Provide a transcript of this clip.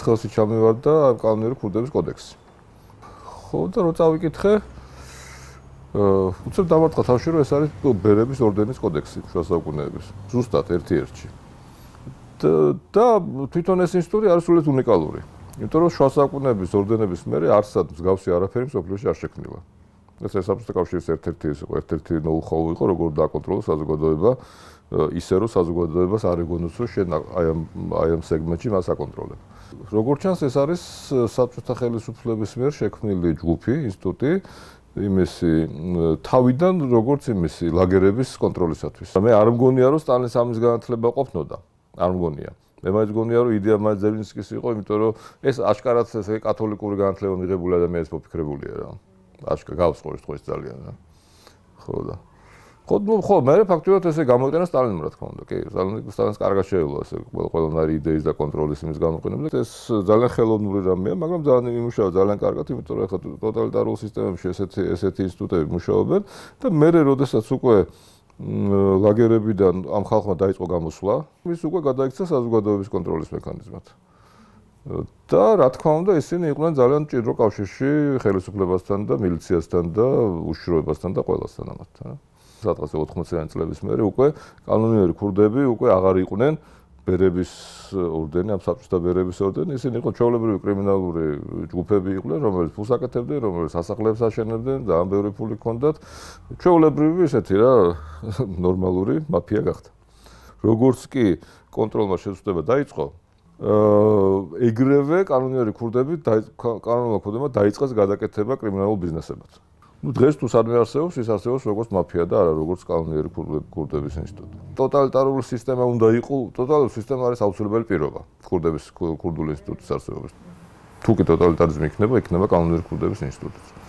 ხელში ჩამივარდა კანონიერი ქურდების კოდექსი. ხო და რო წავიკითხე, უცებ დამარტყა თავში, რომ ეს არის ბერების ორდენის კოდექსი შუა საუკუნეების. ზუსტად ერთ-ერთში. და თვითონ ეს ინსტიტუტი არის სულით უნიკალური. იმიტომ რომ შუა საუკუნეების ორდენების მერე არსად მსგავსი არაფერი მსოფლიოში არ შექმნილა. ეს საბჭოთა კავშირის ერთ-ერთი ნოუ-ჰაუ იყო, როგორ დააკონტროლოს საზოგადოება ისე რომ საზოგადოებას არ ეგონოს რომ შენ აი ამ სეგმენტში მას აკონტროლებ. როგორც ჩანს ეს არის საბჭოთა ხელისუფლების მიერ შექმნილი ჯგუფი, ინსტიტუტი იმისი თავიდან როგორც იმისი ლაგერების კონტროლისათვის. მე არ მგონია რომ სტალინის ამის განათლება ყოფნოდა. არ მგონია. მე მაინც მგონია რომ იდეა მაინც ზელინსკის იყო, იმიტომ რომ ეს აშკარად ესე კათოლიკური განათლება მიღებული ადამიანის მოფიქრებულია რა. აშკარად გავსყურე ეს ძალიან რა. ხო და ხო, მე ფაქტობრივად ესე გამოიყენა სტალინმა რა თქმა უნდა. კი, სტალინს კარგად შეეძლო ესე ყველანაირი იდეის და კონტროლის იმის გამოყენება. ეს ძალიან ხელოვნური რამეა, მაგრამ ძალიან იმუშავა ძალიან კარგად, იმიტომ რომ ახლა ტოტალიტარულ სისტემებში ესეთი ინსტიტუტები მუშაობენ და მე როდესაც უკვე ლაგერებიდან ამ ხალხმა დაიწყო გამოსვლა, ის უკვე გადაიქცა საზოგადოების კონტროლის მექანიზმად. და რა თქმა უნდა, ისინი იყვნენ ძალიან მჭიდრო კავშირში ხელისუფლებასთან და მილიციასთან და უშიშროებასთან და ყველასთან ამათთან. სადღაც 80-იანი წლების მერე უკვე კანონიერი ქურდები უკვე აღარ იყვნენ ბერების ორდენი, ამ საბჭოთა ბერების ორდენი, ისინი იყო ჩვეულებრივი კრიმინალური ჯგუფები იყვნენ, რომელიც ფულს აკეთებდნენ, რომელიც სასახლეებს აშენებდნენ, ძალიან ბევრი ფული ჰქონდათ. ჩვეულებრივი ესეთი რა ნორმალური მაფია გახდა. როგორც კი კონტროლმა შეცვლიება დაიწყო, ეგრევე კანონიერი ქურდები კანონიერმა ქურდებმა დაიწყეს გადაკეთება კრიმინალურ ბიზნესებად. დღეს თუ სადმე არსებობს, ის არსებობს როგორც მაფია და არა როგორც კანონიერი ქურდების ინსტიტუტი. ტოტალიტარული სისტემა უნდა იყოს, ტოტალიტარული სისტემა არის აუცილებელი პირობა ქურდული ინსტიტუტის არსებობის. თუ კი ტოტალიტარიზმი იქნება კანონიერი ქურდების ინსტიტუტიც.